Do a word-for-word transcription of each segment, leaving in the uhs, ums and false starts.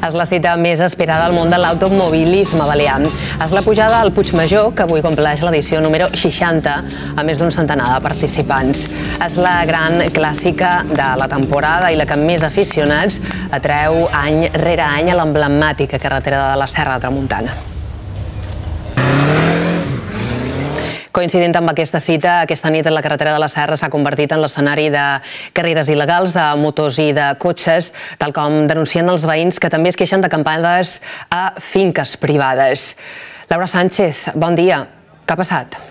És la cita més esperada al món de l'automobilisme balear. És la pujada al Puigmajor, que avui compleix l'edició número seixanta, a més d'un centenar de participants. És la gran clàssica de la temporada i la que més aficionats atreu any rere any a l'emblemàtica carretera de la Serra de Tramuntana. Coincidint amb aquesta cita, aquesta nit la carretera de la Serra s'ha convertit en l'escenari de carreres il·legals de motors i de cotxes, tal com denuncien els veïns que també es queixen d'acampades a finques privades. Laura Sánchez, bon dia. Què ha passat?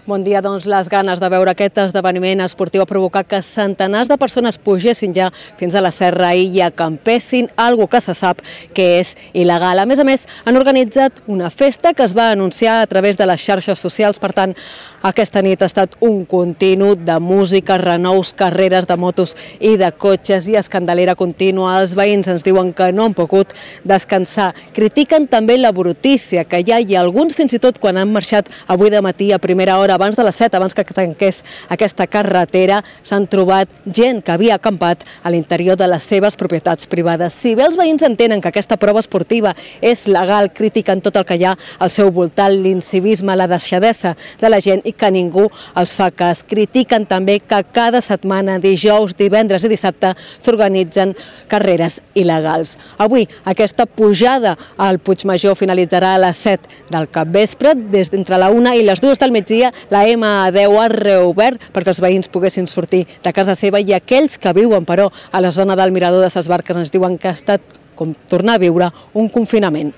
Bon dia. Doncs les ganes de veure aquest esdeveniment esportiu ha provocat que centenars de persones pugessin ja fins a la serra i acampessin, algo que se sap que és il·legal. A més a més, han organitzat una festa que es va anunciar a través de les xarxes socials. Per tant, aquesta nit ha estat un continu de música, renous, carreres de motos i de cotxes i escandalera contínua. Els veïns ens diuen que no han pogut descansar. Critiquen també la brutícia que hi ha i alguns fins i tot quan han marxat avui de matí a primera hora, abans de les set, abans que tanqués aquesta carretera, s'han trobat gent que havia acampat a l'interior de les seves propietats privades. Si bé els veïns entenen que aquesta prova esportiva és legal, critiquen tot el que hi ha al seu voltant, l'incivisme, la deixadesa de la gent i que ningú els fa cas. Critiquen també que cada setmana, dijous, divendres i dissabte, s'organitzen carreres il·legals. Avui, aquesta pujada al Puigmajor finalitzarà a les set del capvespre. Des d'entre la una i les dues del migdia, la ema a deu ha reobert perquè els veïns poguessin sortir de casa seva i aquells que viuen, però, a la zona del Mirador de ses Barques ens diuen que ha estat com tornar a viure un confinament.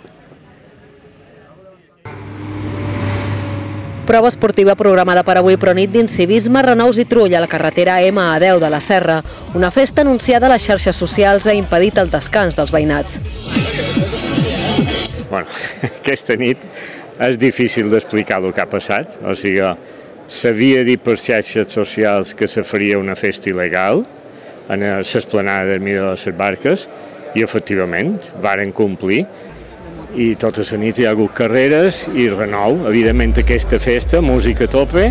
Prova esportiva programada per avui, però nit d'incivisme, renous i trull a la carretera ema a deu de la Serra. Una festa anunciada a les xarxes socials ha impedit el descans dels veïnats. Bueno, aquesta nit és difícil d'explicar el que ha passat. O sigui, s'havia dit per xarxes socials que se faria una festa il·legal a l'esplanada del Mirador de ses Barques i, efectivament, varen complir. I tota la nit hi ha hagut carreres i renou. Evidentment, aquesta festa, música a tope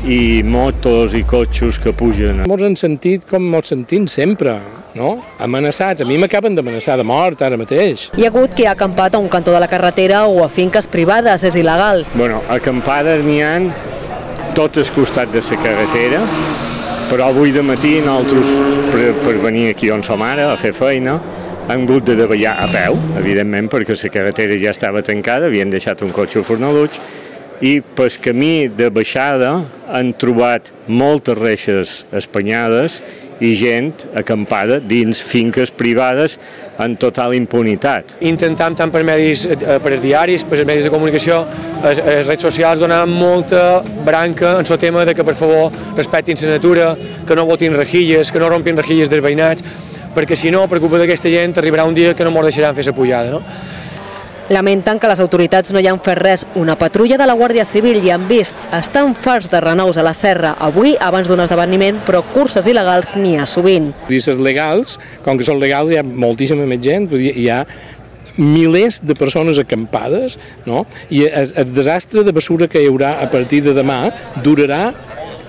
i motos i cotxos que pugen. Molts han sentit com molts sentim sempre, no? Amenaçats. A mi m'acaben d'amenaçar de mort ara mateix. Hi ha hagut qui ha acampat a un cantó de la carretera o a finques privades. És il·legal. Bueno, acampades n'hi ha tot el costat de la carretera, però avui de matí nosaltres, per, per venir aquí on som ara a fer feina, hem hagut de davallar a peu, evidentment, perquè la carretera ja estava tancada, havien deixat un cotxe a Fornalutx, i pel camí de baixada han trobat moltes reixes espanyades i gent acampada dins finques privades en total impunitat. Intentem tant per medis, per diaris, per medis de comunicació, les redes socials donar molta branca en el tema de que per favor respectin la natura, que no botin rejilles, que no rompin rejilles dels veïnats, perquè si no, per culpa d'aquesta gent, arribarà un dia que no mos deixaran fer la pujada, no? Lamenten que les autoritats no hi han fet res. Una patrulla de la Guàrdia Civil hi han vist. Estan farts de renous a la serra avui abans d'un esdeveniment, però curses il·legals n'hi ha sovint. Curses legals, com que són legals hi ha moltíssima més gent, hi ha milers de persones acampades, no? I el desastre de bessura que hi haurà a partir de demà durarà,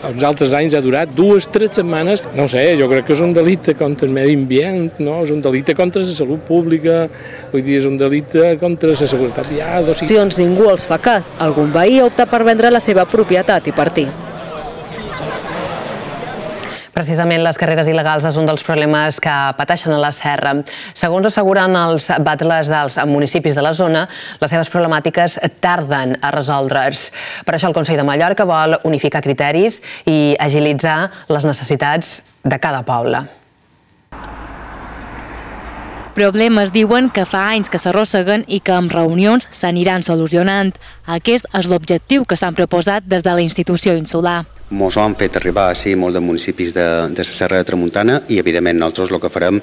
els altres anys ha durat dues, tres setmanes. No sé, jo crec que és un delicte contra el medi ambient, no? És un delicte contra la salut pública, vull dir, és un delicte contra la seguretat vial. O sigui... Ningú els fa cas. Algun veí ha optat per vendre la seva propietat i partir. Precisament les carreres il·legals és un dels problemes que pateixen a la Serra. Segons asseguren els batlles dels municipis de la zona, les seves problemàtiques tarden a resoldre's. Per això el Consell de Mallorca vol unificar criteris i agilitzar les necessitats de cada poble. Problemes diuen que fa anys que s'arrosseguen i que amb reunions s'aniran solucionant. Aquest és l'objectiu que s'han proposat des de la institució insular. Ens ho han fet arribar així molt de municipis de, de la Serra de Tramuntana i, evidentment, nosaltres el que farem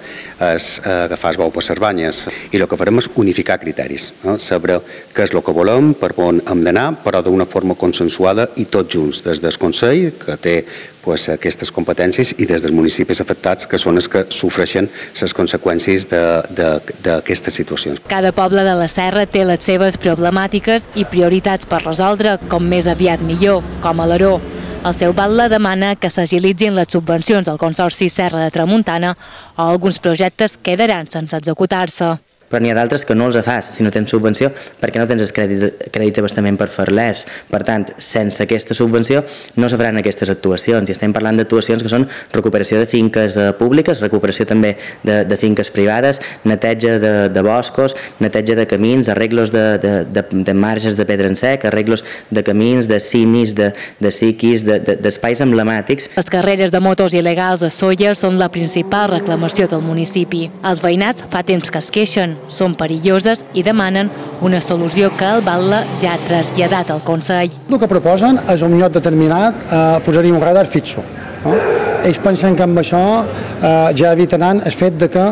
és agafar el bou per les banyes i el que farem és unificar criteris, no? Saber què és el que volem, per on hem d'anar, però d'una forma consensuada i tots junts, des del Consell, que té pues, aquestes competències, i des dels municipis afectats, que són els que sofreixen les conseqüències d'aquestes situacions. Cada poble de la Serra té les seves problemàtiques i prioritats per resoldre, com més aviat millor, com a l'Aró. El seu batlle demana que s'agilitzin les subvencions al Consorci Serra de Tramuntana o alguns projectes quedaran sense executar-se. Però n'hi ha d'altres que no els fas si no tens subvenció perquè no tens el crèdit, crèdit d'abastament per fer-les. Per tant, sense aquesta subvenció no se faran aquestes actuacions. I estem parlant d'actuacions que són recuperació de finques eh, públiques, recuperació també de, de finques privades, neteja de, de boscos, neteja de camins, arreglos de, de, de, de marges de pedra en sec, arreglos de camins, de cimis, de, de siquis, d'espais de, de, emblemàtics. Les carreres de motos il·legals a Sóller són la principal reclamació del municipi. Els veïnats fa temps que es queixen, són perilloses i demanen una solució que el batlle ja ha traslladat al Consell. El que proposen és un lloc determinat eh, posar-hi un radar fixo. No? Ells pensen que amb això eh, ja evitaran el fet de que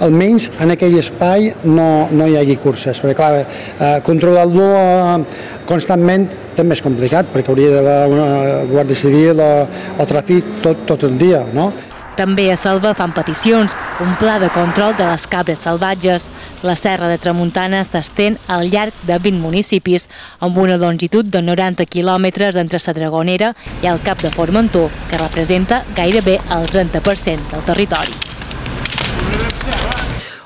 almenys en aquell espai no, no hi hagi curses, perquè clar, eh, controlar-lo eh, constantment també és complicat, perquè hauria d'haver una guàrdia civil o, o tràfic tot, tot el dia, no? També a Selva fan peticions, un pla de control de les cabres salvatges. La Serra de Tramuntana s'estén al llarg de vint municipis, amb una longitud de noranta quilòmetres entre la Dragonera i el Cap de Formentor, que representa gairebé el trenta per cent del territori.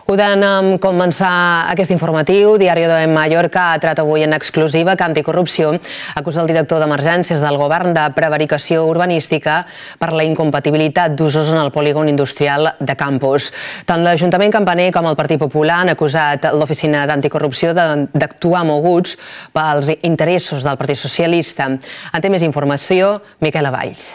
Ho d'en començar aquest informatiu, Diari de Mallorca ha tret avui en exclusiva que Anticorrupció acusa el director d'Emergències del govern de prevaricació urbanística per la incompatibilitat d'usos en el polígon industrial de Campos. Tant l'Ajuntament Campaner com el Partit Popular han acusat l'Oficina d'Anticorrupció d'actuar moguts pels interessos del Partit Socialista. En té més informació, Miquela Valls.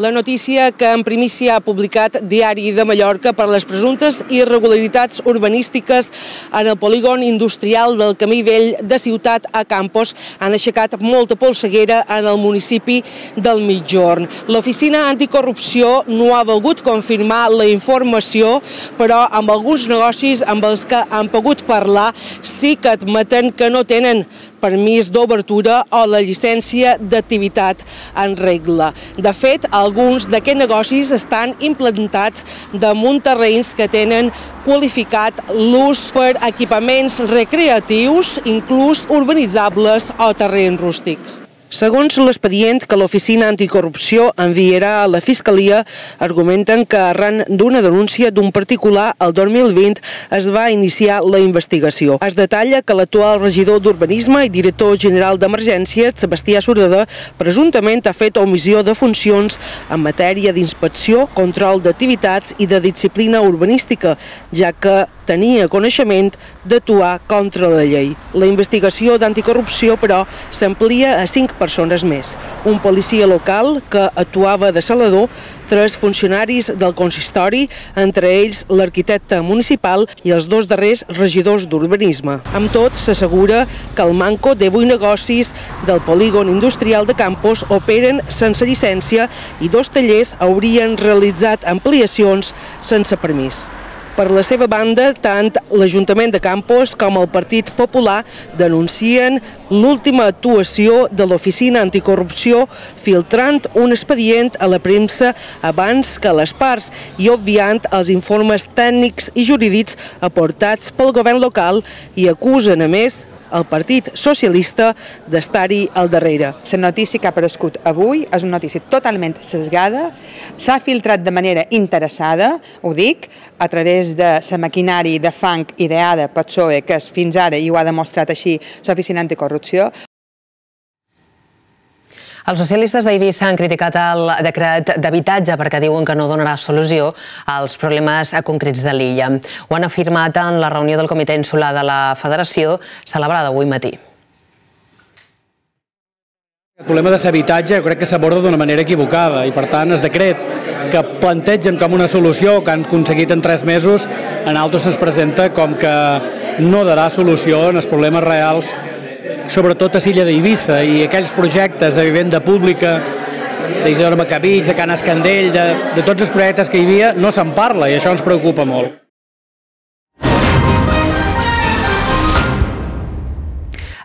La notícia que en primícia ha publicat Diari de Mallorca per les presumptes irregularitats urbanístiques en el polígon industrial del Camí Vell de Ciutat a Campos han aixecat molta polseguera en el municipi del Migjorn. L'Oficina Anticorrupció no ha volgut confirmar la informació, però amb alguns negocis amb els que han pogut parlar sí que admeten que no tenen permís d'obertura o la llicència d'activitat en regla. De fet, alguns d'aquests negocis estan implantats damunt terrenys que tenen qualificat l'ús per equipaments recreatius, inclús urbanitzables o terreny rústic. Segons l'expedient que l'Oficina Anticorrupció enviarà a la Fiscalia, argumenten que arran d'una denúncia d'un particular el dos mil vint es va iniciar la investigació. Es detalla que l'actual regidor d'Urbanisme i director general d'Emergències, Sebastià Sureda, presumptament ha fet omissió de funcions en matèria d'inspecció, control d'activitats i de disciplina urbanística, ja que tenia coneixement d'actuar contra la llei. La investigació d'anticorrupció, però, s'amplia a cinc persones més. Un policia local que actuava de salador, tres funcionaris del consistori, entre ells l'arquitecte municipal i els dos darrers regidors d'urbanisme. Amb tot, s'assegura que el manco de vuit negocis del polígon industrial de Campos operen sense llicència i dos tallers haurien realitzat ampliacions sense permís. Per la seva banda, tant l'Ajuntament de Campos com el Partit Popular denuncien l'última actuació de l'Oficina Anticorrupció filtrant un expedient a la premsa abans que les parts i obviant els informes tècnics i jurídics aportats pel govern local i acusen, a més, el Partit Socialista d'estar-hi al darrere. La notícia que ha aparegut avui és una notícia totalment sesgada, s'ha filtrat de manera interessada, ho dic, a través de la maquinària de fang ideada pel P S O E, que fins ara, i ho ha demostrat així, l'Oficina Anticorrupció. Els socialistes d'Eivissa han criticat el decret d'habitatge perquè diuen que no donarà solució als problemes concrets de l'illa. Ho han afirmat en la reunió del Comitè Insular de la Federació, celebrada avui matí. El problema de l'habitatge crec que s'aborda d'una manera equivocada i, per tant, el decret que plantegen com una solució que han aconseguit en tres mesos, en altres se'ns presenta com que no darà solució als problemes reals, sobretot a l'illa d'Eivissa, i aquells projectes de vivenda pública d'Isidore Macabig, de Can Escandell, de, de tots els projectes que hi havia, no se'n parla i això ens preocupa molt.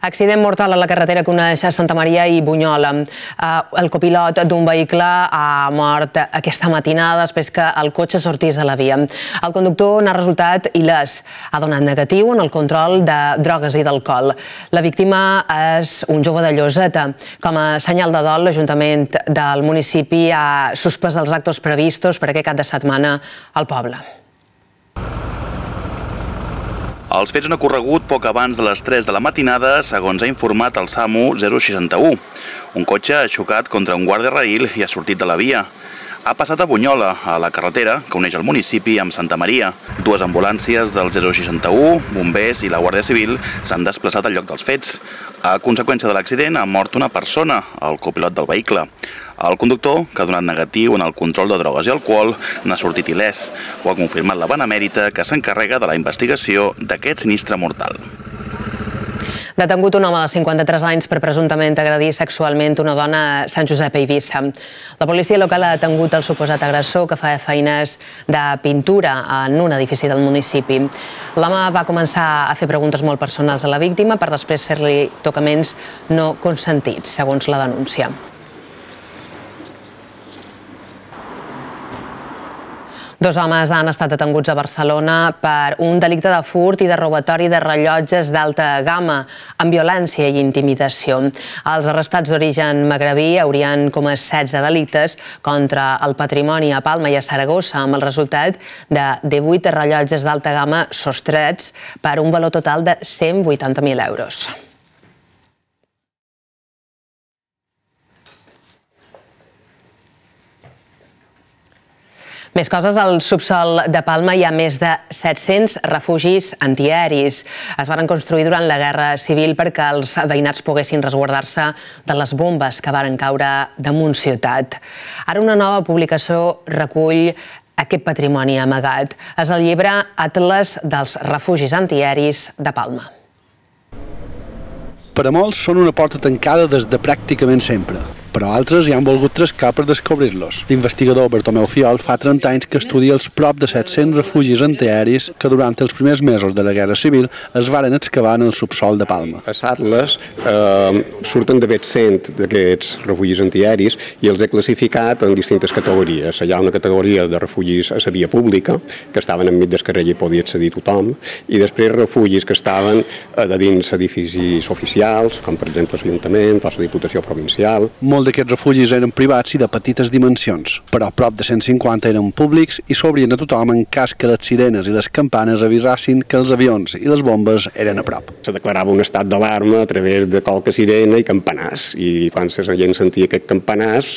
Accident mortal a la carretera que uneix Santa Maria i Bunyola. El copilot d'un vehicle ha mort aquesta matinada després que el cotxe sortís de la via. El conductor n'ha resultat il·lès. Ha donat negatiu en el control de drogues i d'alcohol. La víctima és un jove de Lloseta. Com a senyal de dol, l'Ajuntament del municipi ha suspès els actes previstos per aquest cap de setmana al poble. Els fets han ocorregut poc abans de les tres de la matinada, segons ha informat el SAMU zero seixanta-u. Un cotxe ha xocat contra un guàrdia raïl i ha sortit de la via. Ha passat a Bunyola, a la carretera que uneix el municipi amb Santa Maria. Dues ambulàncies del zero seixanta-u, bombers i la Guàrdia Civil s'han desplaçat al lloc dels fets. A conseqüència de l'accident ha mort una persona, el copilot del vehicle. El conductor, que ha donat negatiu en el control de drogues i alcohol, n'ha sortit il·lès. Ho ha confirmat la Benemèrita, que s'encarrega de la investigació d'aquest sinistre mortal. Detengut un home de cinquanta-tres anys per presumptament agredir sexualment una dona a Sant Josep a Eivissa. La policia local ha detengut el suposat agressor que feia feines de pintura en un edifici del municipi. L'home va començar a fer preguntes molt personals a la víctima per després fer-li tocaments no consentits, segons la denúncia. Dos homes han estat detenguts a Barcelona per un delicte de furt i de robatori de rellotges d'alta gamma, amb violència i intimidació. Els arrestats d'origen magrebí haurien comès setze delictes contra el patrimoni a Palma i a Saragossa, amb el resultat de divuit rellotges d'alta gamma sostrets per un valor total de cent vuitanta mil euros. Més coses, al subsol de Palma hi ha més de set-cents refugis antiaeris. Es van construir durant la Guerra Civil perquè els veïnats poguessin resguardar-se de les bombes que van caure damunt ciutat. Ara una nova publicació recull aquest patrimoni amagat. És el llibre Atles dels refugis antiaeris de Palma. Per a molts són una porta tancada des de pràcticament sempre, però altres hi han volgut trascar per descobrir-los. L'investigador Bartomeu Fiol fa trenta anys que estudia els prop de set-cents refugis antiaeris que durant els primers mesos de la Guerra Civil es varen excavar en el subsol de Palma. A Atles eh, surten d'haver cent d'aquests refugis antiaeris i els he classificat en distintes categories. Hi ha una categoria de refugis a la via pública, que estaven enmig del carrer i podia accedir tothom, i després refugis que estaven a dins edificis oficials, com per exemple l'Ajuntament o la Diputació Provincial. Molts d'aquests refugis eren privats i de petites dimensions, però prop de cent cinquanta eren públics i s'obrien a tothom en cas que les sirenes i les campanes avisassin que els avions i les bombes eren a prop. Se declarava un estat d'alarma a través de qualque sirena i campanars, i quan la gent sentia aquest campanars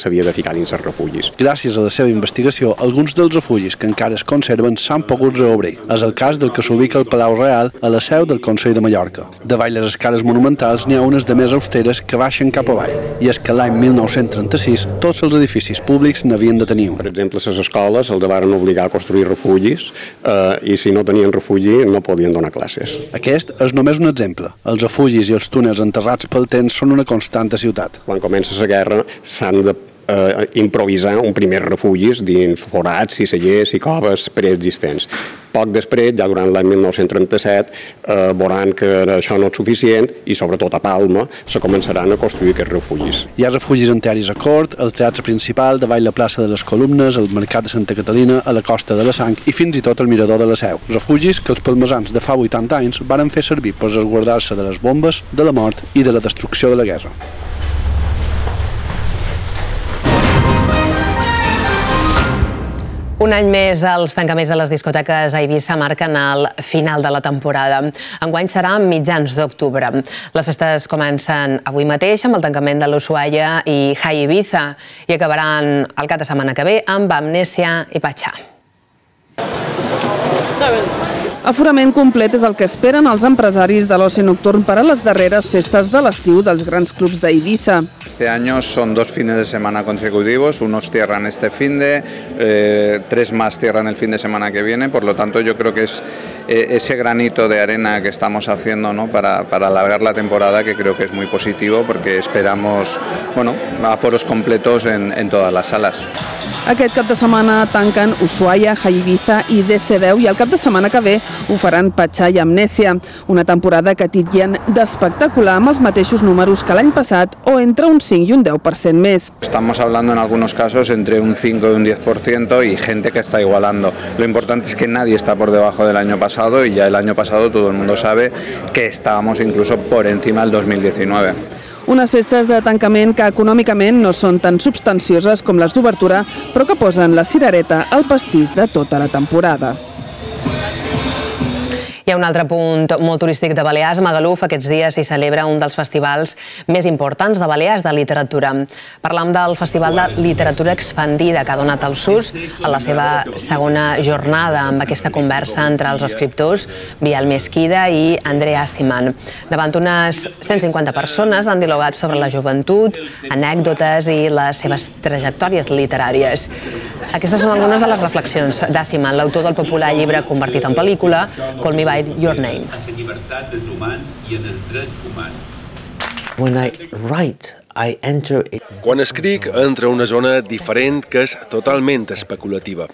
s'havia de ficar dins els refugis. Gràcies a la seva investigació, alguns dels refugis que encara es conserven s'han pogut reobrir. És el cas del que s'ubica al Palau Real, a la seu del Consell de Mallorca. Davall les escales monumentals n'hi ha unes de més austeres que baixen cap avall, i és que l'any mil nou-cents trenta-sis tots els edificis públics n'havien de tenir un. Per exemple, les escoles els varen obligar a construir refugis eh, i si no tenien refugi no podien donar classes. Aquest és només un exemple. Els refugis i els túnels enterrats pel temps són una constant a ciutat. Quan comença la guerra s'han de eh, improvisar un primer refugis dins forats i cellers i coves preexistents. Poc després, ja durant l'any mil nou-cents trenta-set, eh, veuran que això no és suficient i sobretot a Palma se començaran a construir aquests refugis. Hi ha refugis antiaeris a Cort, al Teatre Principal, davall la plaça de les Columnes, al Mercat de Santa Catalina, a la Costa de la Sang i fins i tot al Mirador de la Seu. Refugis que els palmesans de fa vuitanta anys varen fer servir per resguardar-se de les bombes, de la mort i de la destrucció de la guerra. Un any més, els tancaments de les discoteques a Eivissa marquen el final de la temporada. Enguany serà a mitjans d'octubre. Les festes comencen avui mateix amb el tancament de l'Ushuaia i High Ibiza i acabaran el cap de setmana que ve amb Amnèsia i Pachá. Aforament complet és el que esperen els empresaris de l'oci nocturn per a les darreres festes de l'estiu dels grans clubs d'Eivissa. Este año son dos fines de semana consecutivos, unos cierran este fin de, eh, tres más cierran el fin de semana que viene, por lo tanto yo creo que es eh, ese granito de arena que estamos haciendo, ¿no? para, para alargar la temporada, que creo que es muy positivo porque esperamos, bueno, aforos completos en, en todas las salas. Aquest cap de setmana tanquen Ushuaia, Ibiza i D C deu i el cap de setmana que ve ho faran Patxà i Amnèsia. Una temporada que titllen d'espectacular amb els mateixos números que l'any passat o entre un cinc i un deu per cent més. Estamos hablando en algunos casos entre un cinco y un diez por ciento y gente que está igualando. Lo importante es que nadie está por debajo del año pasado y ya el año pasado todo el mundo sabe que estábamos incluso por encima del dos mil diecinueve. Unes festes de tancament que econòmicament no són tan substancioses com les d'obertura, però que posen la cirereta al pastís de tota la temporada. Hi ha un altre punt molt turístic de Balears. A Magaluf aquests dies s'hi celebra un dels festivals més importants de Balears de literatura. Parlam del Festival de Literatura Expandida que ha donat el sus a la seva segona jornada amb aquesta conversa entre els escriptors Biel Mesquida i Andrea Siman. Davant unes cent cinquanta persones han dialogat sobre la joventut, anècdotes i les seves trajectòries literàries. Aquestes són algunes de les reflexions d'Asiman, l'autor del popular llibre convertit en pel·lícula, Call Me By Your Name. Quan escric, entro a una zona diferent que és totalment especulativa.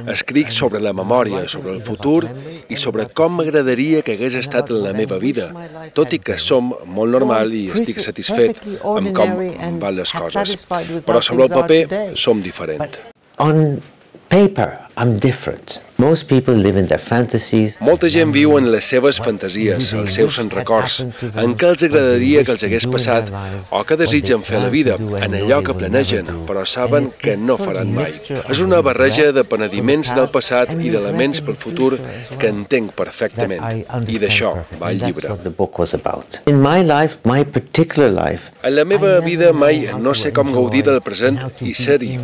Escric sobre la memòria, sobre el futur i sobre com m'agradaria que hagués estat la meva vida, tot i que som molt normal i estic satisfet amb com van les coses. Però sobre el paper som diferent. On paper, I'm different. Most people live in their fantasies. Molta gent viu en les seves fantasies, els seus records, en què els agradaria que els hagués passat o que desitgen fer a la vida, en allò que planegen, però saben que no faran mai. És una barreja de penediments del passat i d'elements pel futur que entenc perfectament. I d'això va el llibre. In my life, my particular life, en la meva vida mai no sé com gaudir del present i ser-hi.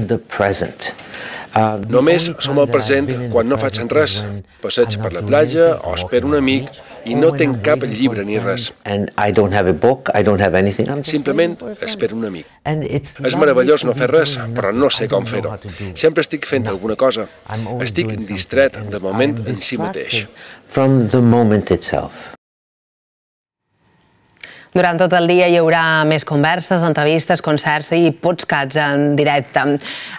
Només som al present quan no faig res. Passeig per la platja o espero un amic i no tinc cap llibre ni res. Simplement espero un amic. És meravellós no fer res, però no sé com fer-ho. Sempre estic fent alguna cosa. Estic distret de moment en si mateix. From the moment itself. Durant tot el dia hi haurà més converses, entrevistes, concerts i podcasts en directe.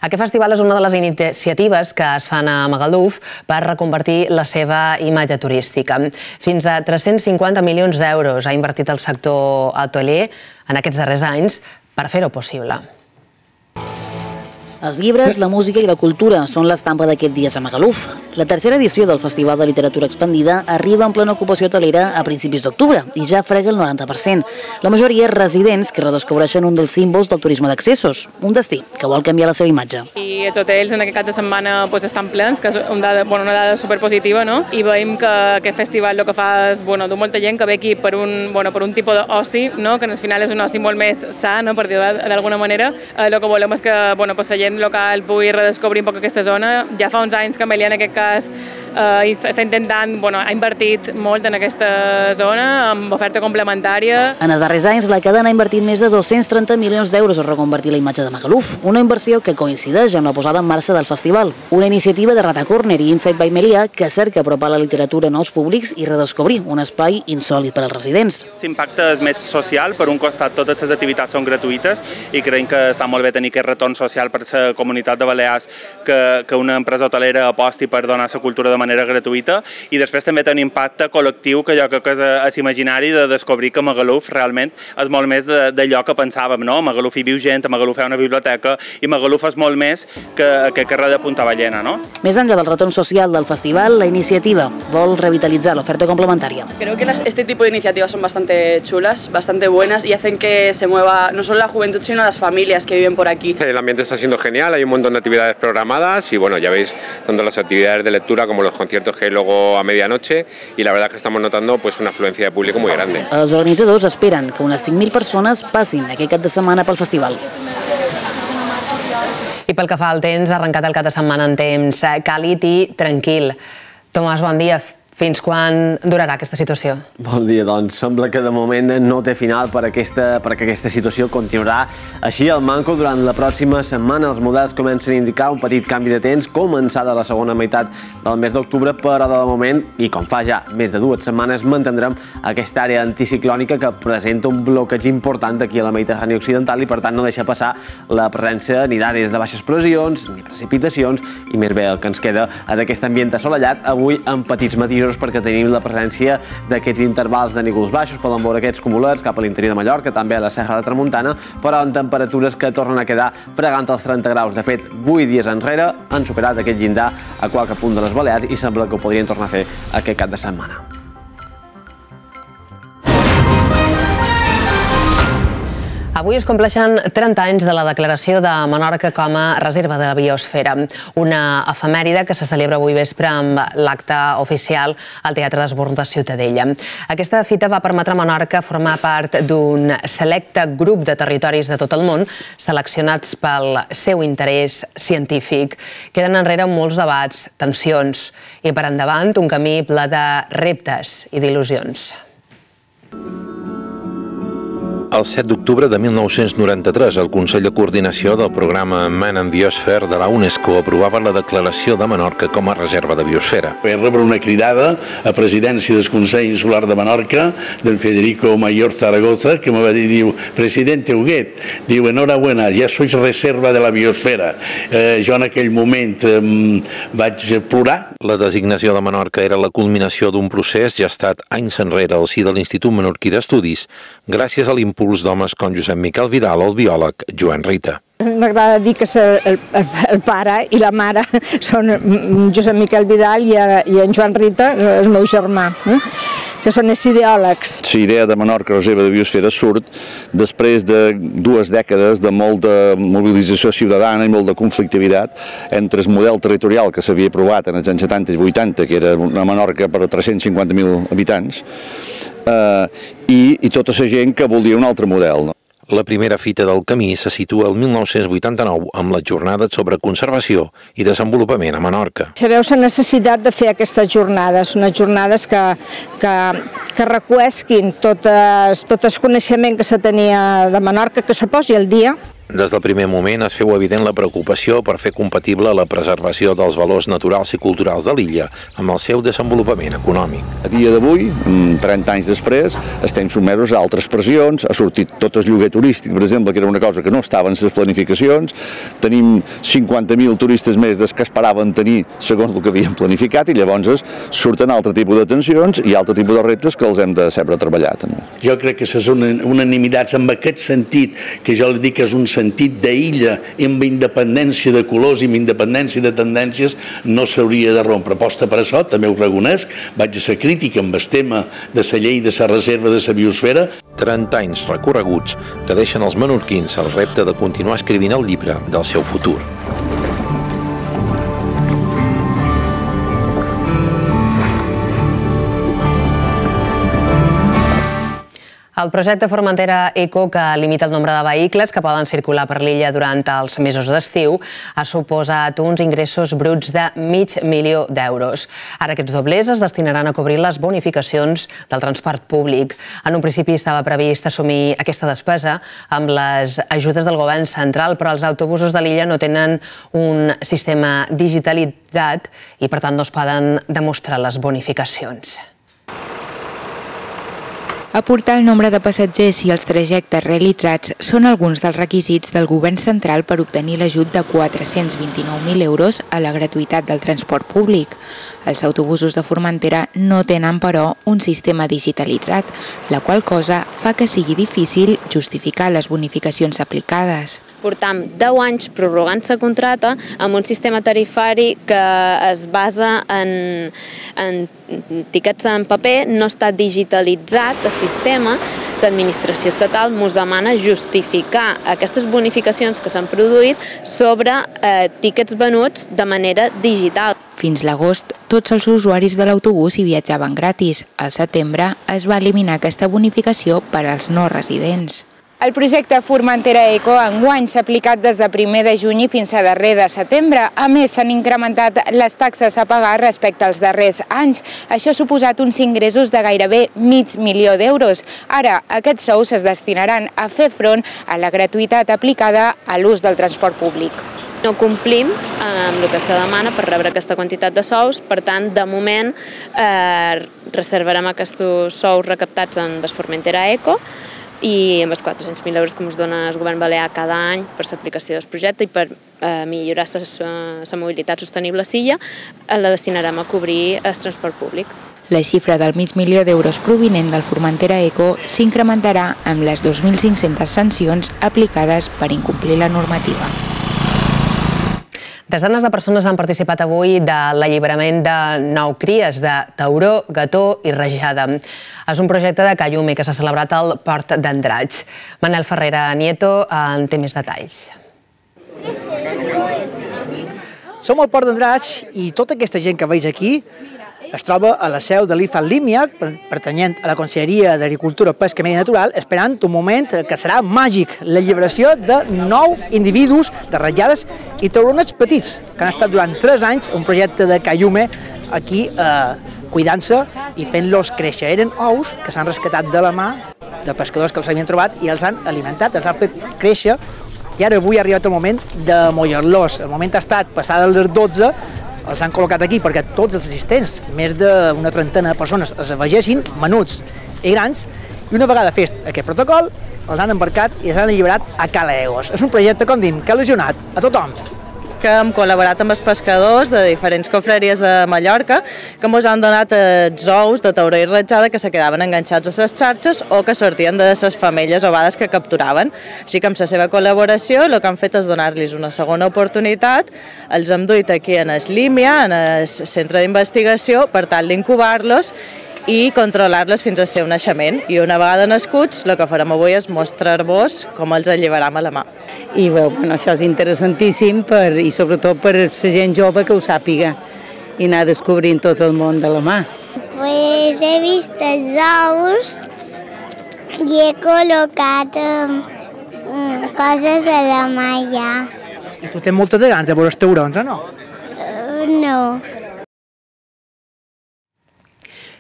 Aquest festival és una de les iniciatives que es fan a Magaluf per reconvertir la seva imatge turística. Fins a tres-cents cinquanta milions d'euros ha invertit el sector hotelier en aquests darrers anys per fer-ho possible. Els llibres, la música i la cultura són l'estampa d'aquest dies a Magaluf. La tercera edició del Festival de Literatura Expandida arriba en plena ocupació hotelera a principis d'octubre i ja frega el noranta per cent. La majoria residents que redescobreixen un dels símbols del turisme d'accessos, un destí que vol canviar la seva imatge. I els hotels en aquest cap de setmana estan plens, que és una dada superpositiva, i veiem que aquest festival el que fa és dur molta gent que ve aquí per un tipus d'oci, que al final és un oci molt més sa, per dir-ho d'alguna manera. El que volem és que la gent local pugui redescobrir un poc aquesta zona. Ja fa uns anys que Amelia en aquest cas està intentant, ha invertit molt en aquesta zona, amb oferta complementària. En els darrers anys, la cadena ha invertit més de dos-cents trenta milions d'euros a reconvertir la imatge de Magaluf, una inversió que coincideix amb la posada en marxa del festival. Una iniciativa de Rata Corner i Inside by Melia que cerca apropar la literatura a nous públics i redescobrir un espai insòlit per als residents. L'impacte és més social. Per un costat, totes les activitats són gratuïtes i creiem que està molt bé tenir aquest retorn social per la comunitat de Balears que una empresa hotelera aposti per donar la cultura de manera gratuïta, i després també té un impacte col·lectiu que jo crec que és imaginari de descobrir que Magaluf realment és molt més d'allò que pensàvem. A Magaluf hi viu gent, a Magaluf hi ha una biblioteca i Magaluf és molt més que aquest carrer de Punta Ballena. Més enllà del retorn social del festival, la iniciativa vol revitalitzar l'oferta complementària. Creo que este tipo de iniciativas son bastante chulas, bastante buenas y hacen que se mueva no solo la juventud sino las familias que viven por aquí. El ambiente está siendo genial, hay un montón de actividades programadas y bueno, ya veis tanto las actividades de lectura como los conciertos que hay luego a medianoche y la verdad es que estamos notando pues una afluencia de público muy grande. Els organitzadors esperen que unes cinc mil persones passin aquest cap de setmana pel festival. I pel que fa al temps, ha arrencat el cap de setmana en temps càlid i tranquil. Tomàs, bon dia. Fins quan durarà aquesta situació? Bon dia, doncs sembla que de moment no té final per aquesta, perquè aquesta situació continuarà així al manco durant la pròxima setmana. Els models comencen a indicar un petit canvi de temps, començada la segona meitat del mes d'octubre, però de moment, i com fa ja més de dues setmanes, mantindrem aquesta àrea anticiclònica que presenta un bloqueig important aquí a la Mediterrània occidental i per tant no deixa passar la presència ni d'àrees de baixes pressions ni precipitacions i més bé el que ens queda és aquest ambient assolellat, avui amb petits matisos perquè tenim la presència d'aquests intervals de núvols baixos, poden veure aquests cumulats cap a l'interior de Mallorca, també a la Serra de Tramuntana, però amb temperatures que tornen a quedar fregant els trenta graus. De fet, vuit dies enrere han superat aquest llindar a qualque punt de les Balears i sembla que ho podrien tornar a fer aquest cap de setmana. Avui es compleixen trenta anys de la declaració de Menorca com a reserva de la biosfera, una efemèride que se celebra avui vespre amb l'acte oficial al Teatre d'Esborn de Ciutadella. Aquesta fita va permetre a Menorca formar part d'un selecte grup de territoris de tot el món seleccionats pel seu interès científic. Queden enrere molts debats, tensions i per endavant un camí ple de reptes i d'il·lusions. El set d'octubre de mil nou-cents noranta-tres, el Consell de Coordinació del programa Man and Biosphere de la UNESCO aprovava la declaració de Menorca com a reserva de biosfera. Vaig rebre una cridada a presidència del Consell Insular de Menorca, del Federico Mayor Zaragoza, que me va dir, diu, presidente Huguet, diu, enhorabuena, ja sois reserva de la biosfera. Eh, jo en aquell moment eh, vaig plorar. La designació de Menorca era la culminació d'un procés gestat anys enrere al si de l'Institut Menorquí d'Estudis, gràcies a l'impuls d'homes com Josep Miquel Vidal o el biòleg Joan Rita. M'agrada dir que el, el, el pare i la mare són Josep Miquel Vidal i, i en Joan Rita, el meu germà, eh? que són els ideòlegs. La idea de Menorca reserva de biosfera surt després de dues dècades de molta mobilització ciutadana i molta conflictivitat entre el model territorial que s'havia aprovat en els anys setanta i vuitanta, que era una Menorca per a tres-cents cinquanta mil habitants, eh, i, i tota la gent que volia un altre model. No? La primera fita del camí se situa el mil nou-cents vuitanta-nou amb les jornades sobre conservació i desenvolupament a Menorca. Sabeu la necessitat de fer aquestes jornades, unes jornades que, que, que recuesquin tot el, tot el coneixement que se tenia de Menorca, que se posi al dia. Des del primer moment es feu evident la preocupació per fer compatible la preservació dels valors naturals i culturals de l'illa amb el seu desenvolupament econòmic. A dia d'avui, trenta anys després, estem sotmesos a altres pressions, ha sortit tot el lloguer turístic, per exemple, que era una cosa que no estava en les planificacions, tenim cinquanta mil turistes més des que esperaven tenir segons el que havíem planificat i llavors surten altre tipus de tensions i altre tipus de reptes que els hem de saber treballar també. Jo crec que les unanimitats en aquest sentit, que jo li dic que és un sentit d'illa amb independència de colors i amb independència de tendències, no s'hauria de rompre. Aposta per això, també ho reconec, vaig a ser crític amb el tema de la llei de la reserva de la biosfera. trenta anys recorreguts que deixen als menorquins el repte de continuar escrivint el llibre del seu futur. El projecte Formentera Eco, que limita el nombre de vehicles que poden circular per l'illa durant els mesos d'estiu, ha suposat uns ingressos bruts de mig milió d'euros. Ara aquests doblers es destinaran a cobrir les bonificacions del transport públic. En un principi estava previst assumir aquesta despesa amb les ajudes del govern central, però els autobusos de l'illa no tenen un sistema digitalitzat i per tant no es poden demostrar les bonificacions. Aportar el nombre de passatgers i els trajectes realitzats són alguns dels requisits del govern central per obtenir l'ajut de quatre-cents vint-i-nou mil euros a la gratuïtat del transport públic. Els autobusos de Formentera no tenen, però, un sistema digitalitzat, la qual cosa fa que sigui difícil justificar les bonificacions aplicades. Portam deu anys prorrogant la contracta amb un sistema tarifari que es basa en, en tiquets en paper, no està digitalitzat el sistema. L'administració estatal ens demana justificar aquestes bonificacions que s'han produït sobre eh, tiquets venuts de manera digital. Fins l'agost, tots els usuaris de l'autobús hi viatjaven gratis. Al setembre es va eliminar aquesta bonificació per als no residents. El projecte Formentera Eco enguany s'ha aplicat des de primer de juny fins a darrer de setembre. A més, s'han incrementat les taxes a pagar respecte als darrers anys. Això ha suposat uns ingressos de gairebé mig milió d'euros. Ara, aquests sous es destinaran a fer front a la gratuïtat aplicada a l'ús del transport públic. No complim amb el que se demana per rebre aquesta quantitat de sous, per tant, de moment eh, reservarem aquests sous recaptats en el Formentera Eco i amb els quatre-cents mil euros que ens dona el govern balear cada any per l'aplicació del projecte i per eh, millorar la mobilitat sostenible a Silla, la destinarem a cobrir el transport públic. La xifra del mig milió d'euros provinent del Formentera Eco s'incrementarà amb les dos mil cinc-centes sancions aplicades per incomplir la normativa. Desenes de persones han participat avui de l'alliberament de nou cries de tauró, gató i rajada. És un projecte de Cayume que s'ha celebrat al Port d'Andratx. Manel Ferrera Nieto en té més detalls. Som al Port d'Andratx i tota aquesta gent que veig aquí es troba a la seu de l'I F A Límia, pertanyent a la Conselleria d'Agricultura, Pesca i Medi Natural, esperant un moment que serà màgic, l'alliberació de nou individus de ratllades i tauronets petits, que han estat durant tres anys un projecte de Cayume aquí eh, cuidant-se i fent-los créixer. Eren ous que s'han rescatat de la mà de pescadors que els havien trobat i els han alimentat, els han fet créixer i ara avui ha arribat el moment de mollar-los. El moment ha estat passada les dotze, els han col·locat aquí perquè tots els assistents, més d'una trentena de persones, els vegessin menuts i grans, i una vegada fet aquest protocol, els han embarcat i els han alliberat a Cala Egos. És un projecte, com dim, que ha il·lusionat a tothom. Que hem col·laborat amb els pescadors de diferents confraries de Mallorca que ens han donat els ous de tauró i ratjada que se quedaven enganxats a les xarxes o que sortien de les femelles ovades que capturaven. Així que amb la seva col·laboració el que han fet és donar-los una segona oportunitat. Els hem duit aquí en el Límia, en el centre d'investigació, per tal d'incubar-los i controlar-los fins al seu naixement. I una vegada nascuts, el que farem avui és mostrar-vos com els alliberam a la mà. I bueno, això és interessantíssim per, i sobretot per la gent jove que ho sàpiga i anar descobrint tot el món de la mà. Pues he vist els ous i he col·locat um, coses a la malla. I tu tens moltes de ganes de veure els taurons, o no? Uh, no.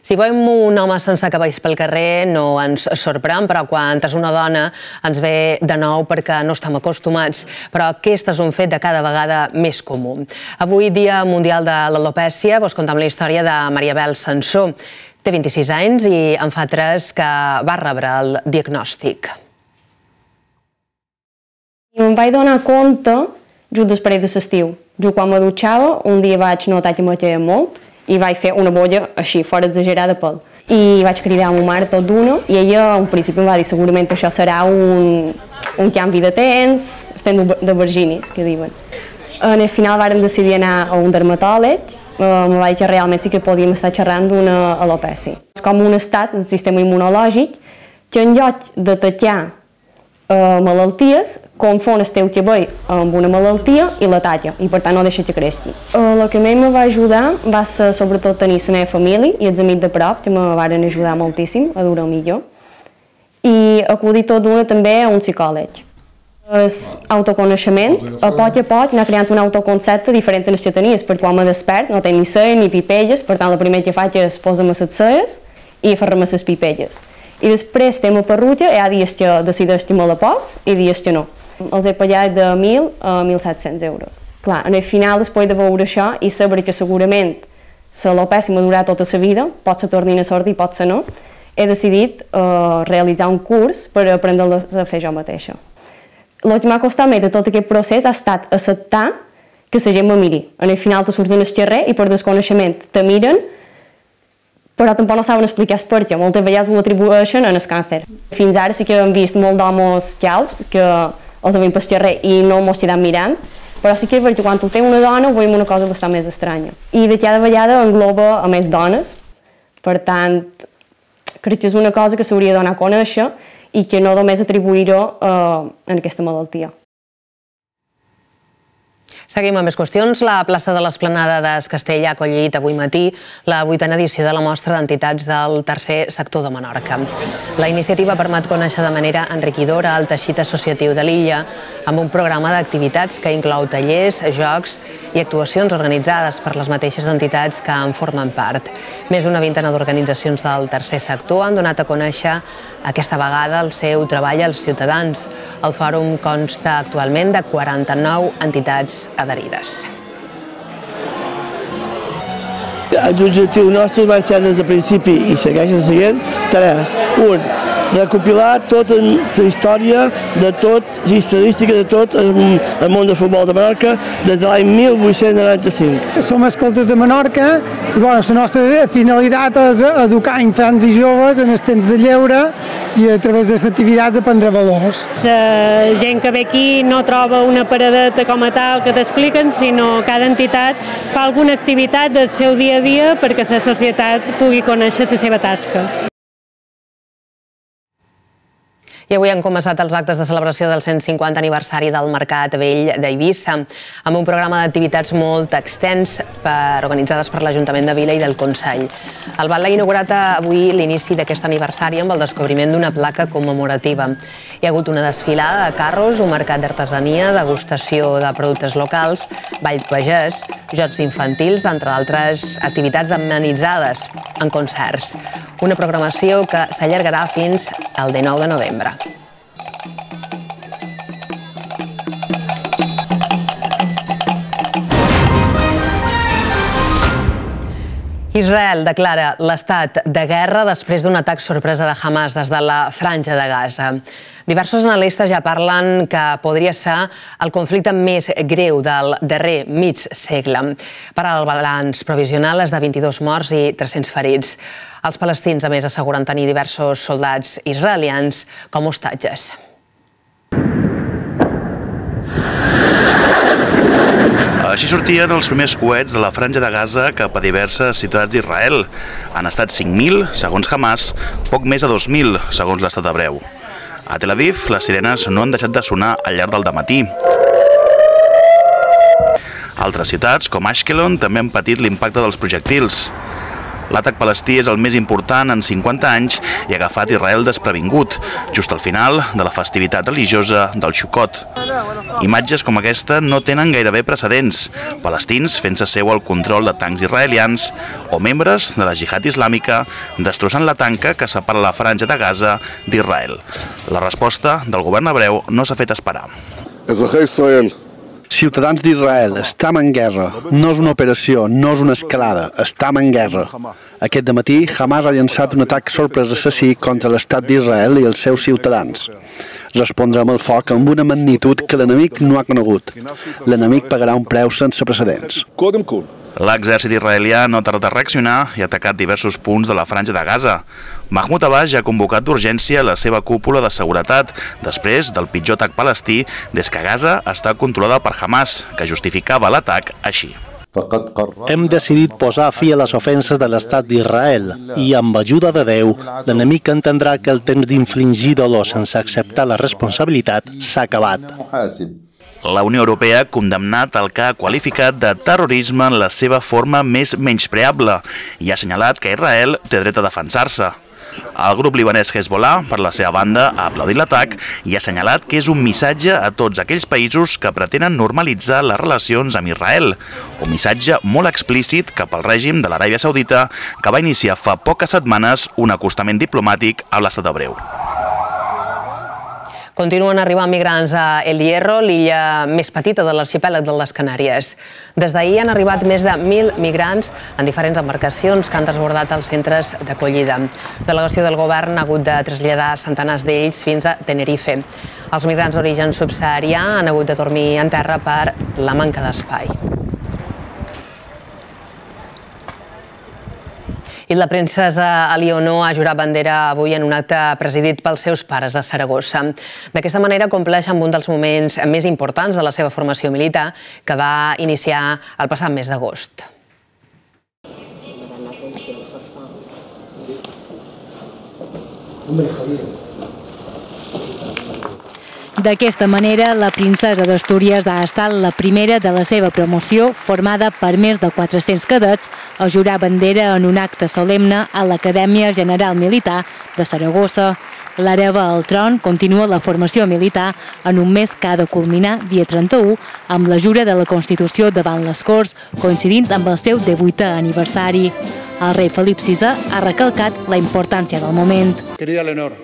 Si veiem un home sense cabells pel carrer no ens sorprèn, però quan és una dona ens ve de nou perquè no estem acostumats. Però aquest és un fet de cada vegada més comú. Avui, Dia Mundial de l'Alopècia, vos contem la història de Maria Bel Sansó. Té vint-i-sis anys i en fa tres que va rebre el diagnòstic. Em vaig donar compte just després de l'estiu. Jo quan me dutxava, un dia vaig notar que me queia molt i vaig fer una bolla així, fora exagerada pel. I vaig cridar a ma mare tot d'una i ella al principi em va dir segurament això serà un, un canvi de temps, estem de virginis, que diuen. En el final vàrem decidir anar a un dermatòleg, em va dir que realment sí que podíem estar xerrant d'una alopècia. És com un estat del sistema immunològic que en lloc d'atacar Uh, malalties, confon el teu cabell amb una malaltia i la talla, i per tant no deixa que creixi. Uh, el que més me va ajudar va ser sobretot tenir la meva família i els amics de prop, que me van ajudar moltíssim a dur-ho millor, i acudir tot d'una també a un psicòleg. El autoconeixement, a poc a poc, anar creant un autoconcepte diferent en les que tenies, perquè quan me despert no tenc ni celles ni pipelles, per tant el primer que faig és posar-me les celles i fer-me les pipelles. I després estem a Perruja, hi ha dies que decideix que me la pos i dies que no. Els he pagat de mil a mil set-cents euros. Clar, en el final, després de veure això i saber que segurament l'alopècia m'ha durat tota la vida, pot ser tornin a sortir, pot ser no, he decidit uh, realitzar un curs per aprendre a fer jo mateixa. El que m'ha costat més de tot aquest procés ha estat acceptar que la gent me miri. En el final tu surts en el carrer i per desconeixement te miren, però tampoc no saben explicar el perquè, moltes vegades ho atribueixen en el càncer. Fins ara sí que hem vist molt d'homes calbs que els havien pel carrer i no mos quedem mirant, però sí que és perquè quan tu tens una dona ho veiem una cosa bastant més estranya. I de cada vegada engloba a més dones, per tant, crec que és una cosa que s'hauria de donar a conèixer i que no només atribuir-ho eh, en aquesta malaltia. Seguim amb més qüestions. La plaça de l'Esplanada d'Es Castell ha acollit avui matí la vuitena edició de la mostra d'entitats del tercer sector de Menorca. La iniciativa permet conèixer de manera enriquidora el teixit associatiu de l'illa amb un programa d'activitats que inclou tallers, jocs i actuacions organitzades per les mateixes entitats que en formen part. Més d'una vintena d'organitzacions del tercer sector han donat a conèixer aquesta vegada el seu treball als ciutadans. El fòrum consta actualment de quaranta-nou entitats adherides. Els objectius nostres van ser des del principi i segueixen sent tres. Un, recopilar tota la història de tot, la estadística de tot el món del futbol de Menorca des de l'any mil vuit-cents noranta-cinc. Som escoltes de Menorca i la nostra finalitat és educar infants i joves en el temps de lleure i a través de les activitats aprendre valors. La gent que ve aquí no troba una paradeta com a tal que t'expliquen, sinó cada entitat fa alguna activitat del seu dia a dia perquè la societat pugui conèixer la seva tasca. I avui han començat els actes de celebració del cent cinquanta aniversari del Mercat Vell d'Eivissa, amb un programa d'activitats molt extens organitzades per l'Ajuntament de Vila i del Consell. El Batlle ha inaugurat avui l'inici d'aquest aniversari amb el descobriment d'una placa commemorativa. Hi ha hagut una desfilada de carros, un mercat d'artesania, degustació de productes locals, ball pagès, jocs infantils, entre d'altres activitats amenitzades en concerts. Una programació que s'allargarà fins al dinou de novembre. Israel declara l'estat de guerra després d'un atac sorpresa de Hamas des de la Franja de Gaza. Diversos analistes ja parlen que podria ser el conflicte més greu del darrer mig segle. Per al balanç provisional és de vint-i-dos morts i tres-cents ferits. Els palestins, a més, asseguren tenir diversos soldats israelians com a hostatges. Així sortien els primers coets de la Franja de Gaza cap a diverses ciutats d'Israel. Han estat cinc mil, segons Hamas, poc més de dos mil, segons l'estat hebreu. A Tel Aviv, les sirenes no han deixat de sonar al llarg del dematí. Altres ciutats, com Ashkelon, també han patit l'impacte dels projectils. L'atac palestí és el més important en cinquanta anys i ha agafat Israel desprevingut, just al final de la festivitat religiosa del Sukkot. Imatges com aquesta no tenen gairebé precedents. Palestins fent-se seu el control de tancs israelians o membres de la jihad islàmica destrossant la tanca que separa la Franja de Gaza d'Israel. La resposta del govern hebreu no s'ha fet esperar. Ciutadans d'Israel, estem en guerra. No és una operació, no és una escalada, estem en guerra. Aquest dematí, Hamas ha llançat un atac sorpresa assassí contra l'estat d'Israel i els seus ciutadans. Respondrem al foc amb una magnitud que l'enemic no ha conegut. L'enemic pagarà un preu sense precedents. L'exèrcit israelià no ha tardat a reaccionar i ha atacat diversos punts de la Franja de Gaza. Mahmoud Abbas ja ha convocat d'urgència la seva cúpula de seguretat després del pitjor atac palestí des que Gaza està controlada per Hamas, que justificava l'atac així. Hem decidit posar fi a les ofenses de l'estat d'Israel i, amb ajuda de Déu, l'enemic entendrà que el temps d'infligir dolor sense acceptar la responsabilitat s'ha acabat. La Unió Europea ha condemnat el que ha qualificat de terrorisme en la seva forma més menyspreable i ha assenyalat que Israel té dret a defensar-se. El grup libanès Hezbollah, per la seva banda, ha aplaudit l'atac i ha assenyalat que és un missatge a tots aquells països que pretenen normalitzar les relacions amb Israel. Un missatge molt explícit cap al règim de l'Aràbia Saudita que va iniciar fa poques setmanes un acostament diplomàtic a l'estat hebreu. Continuen arribant migrants a El Hierro, l'illa més petita de l'arxipèlag de les Canàries. Des d'ahir han arribat més de mil migrants en diferents embarcacions que han desbordat els centres d'acollida. La delegació del govern ha hagut de traslladar centenars d'ells fins a Tenerife. Els migrants d'origen subsaharià han hagut de dormir en terra per la manca d'espai. I la princesa Elionor ha jurat bandera avui en un acte presidit pels seus pares a Saragossa. D'aquesta manera compleix amb un dels moments més importants de la seva formació militar que va iniciar el passat mes d'agost. D'aquesta manera, la princesa d'Astúries ha estat la primera de la seva promoció, formada per més de quatre-cents cadets, a jurar bandera en un acte solemne a l'Acadèmia General Militar de Saragossa. L'hereva al tron continua la formació militar en un mes que ha de culminar, dia trenta-u, amb la jura de la Constitució davant les Corts, coincidint amb el seu divuitè aniversari. El rei Felip sisè ha recalcat la importància del moment. Querida Leonor,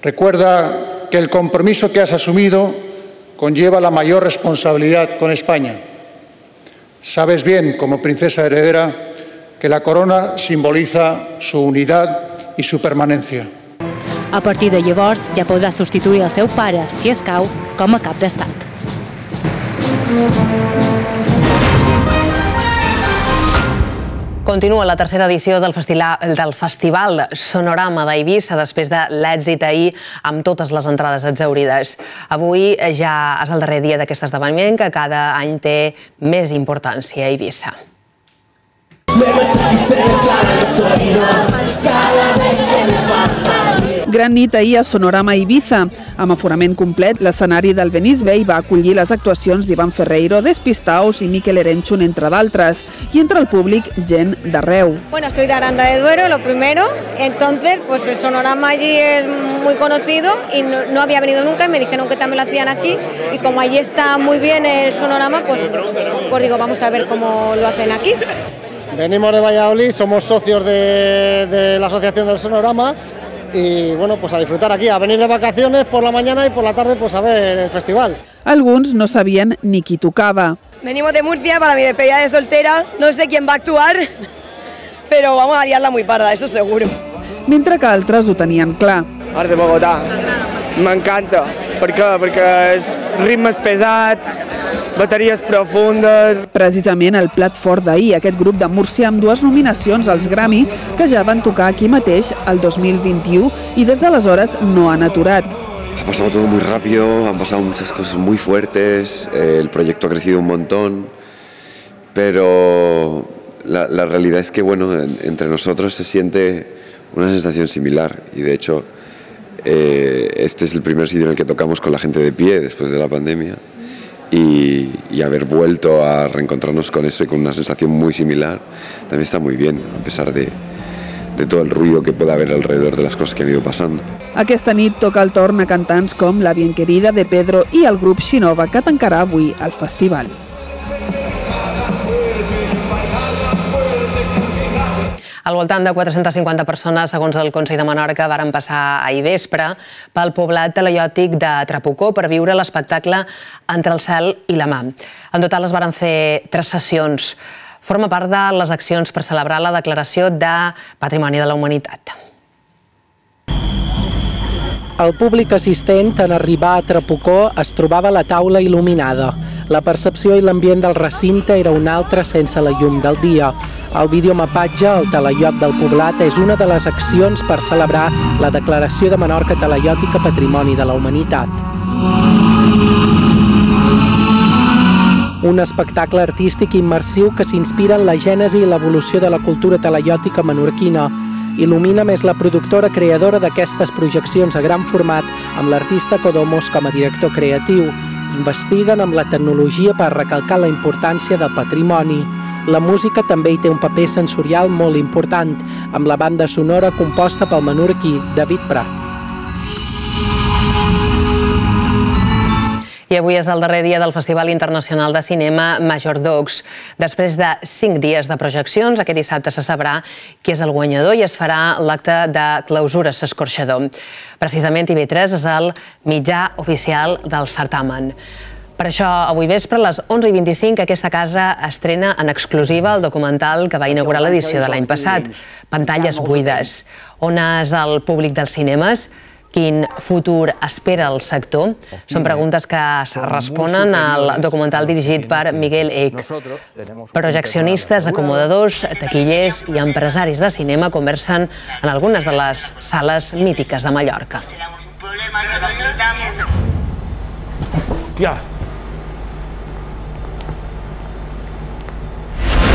recuerda que el compromiso que has asumido conlleva la mayor responsabilidad con España. Sabes bien, como princesa heredera, que la corona simboliza su unidad y su permanencia. A partir de llavors ja podrà substituir el seu pare, si escau, com a cap d'estat. Continua la tercera edició del Festival Sonorama d'Eivissa després de l'èxit ahir amb totes les entrades exhaurides. Avui ja és el darrer dia d'aquest esdeveniment que cada any té més importància a Eivissa. Gran nit ahir a Sonorama Eivissa. Amb aforament complet, l'escenari del Venice Bay va acollir les actuacions d'Ivan Ferreiro, Despistaos i Miquel Erenchun, entre d'altres, i entre el públic, gent d'arreu. Bueno, soy de Aranda de Duero, lo primero, entonces pues el Sonorama allí es muy conocido y no, no había venido nunca y me dijeron que también lo hacían aquí y como allí está muy bien el Sonorama, pues, pues digo, vamos a ver cómo lo hacen aquí. Venimos de Valladolid, somos socios de, de la Asociación del Sonorama y bueno, pues a disfrutar aquí, a venir de vacaciones por la mañana y por la tarde pues a ver el festival. Alguns no sabien ni qui tocava. Venimos de Murcia para mi despedida de soltera, no sé quién va a actuar, pero vamos a liarla muy parda, eso seguro. Mentre que altres ho tenien clar. Art de Bogotà, m'encanta. Per què? Perquè és ritmes pesats, bateries profundes... Precisament el plat fort d'ahir, aquest grup de Múrcia amb dues nominacions als Grammy que ja van tocar aquí mateix el dos mil vint-i-u i des d'aleshores no han aturat. Ha pasado todo muy rápido, han pasado muchas cosas muy fuertes, eh, el proyecto ha crecido un montón, pero la, la realidad es que bueno, en, entre nosotros se siente una sensación similar y de hecho eh, este es el primer sitio en el que tocamos con la gente de pie después de la pandemia y, y haber vuelto a reencontrarnos con eso y con una sensación muy similar también está muy bien, a pesar de, de todo el ruido que pueda haber alrededor de las cosas que han ido pasando. Aquesta nit toca el torn a cantants com La Bien Querida de Pedro i el grup Xinova, que tancarà avui el festival. Al voltant de quatre-centes cinquanta persones, segons el Consell de Menorca, varen passar ahir vespre pel poblat talaiòtic de Trapucó per viure l'espectacle Entre el cel i la mà. En total es varen fer tres sessions. Forma part de les accions per celebrar la declaració de Patrimoni de la Humanitat. El públic assistent, en arribar a Trapucó, es trobava a la taula il·luminada. La percepció i l'ambient del recinte era un altre sense la llum del dia. El videomapatge, al talaiot del poblat, és una de les accions per celebrar la declaració de Menorca talaiòtica Patrimoni de la Humanitat. Un espectacle artístic immersiu que s'inspira en la gènesi i l'evolució de la cultura talaiòtica menorquina. Il·lumina és la productora creadora d'aquestes projeccions a gran format amb l'artista Codomos com a director creatiu. Investiguen amb la tecnologia per recalcar la importància del patrimoni. La música també hi té un paper sensorial molt important, amb la banda sonora composta pel menorquí David Prats. I avui és el darrer dia del Festival Internacional de Cinema Major Dogs. Després de cinc dies de projeccions, aquest dissabte se sabrà qui és el guanyador i es farà l'acte de clausura s'escorxador. Precisament T V tres és el mitjà oficial del certamen. Per això, avui vespre, a les onze i vint-i-cinc, aquesta casa estrena en exclusiva el documental que va inaugurar l'edició de l'any passat, Pantalles buides. On és el públic dels cinemes? Quin futur espera el sector? Són preguntes que es responen al documental dirigit per Miguel Eck. Projeccionistes, acomodadors, taquillers i empresaris de cinema conversen en algunes de les sales mítiques de Mallorca. Ya.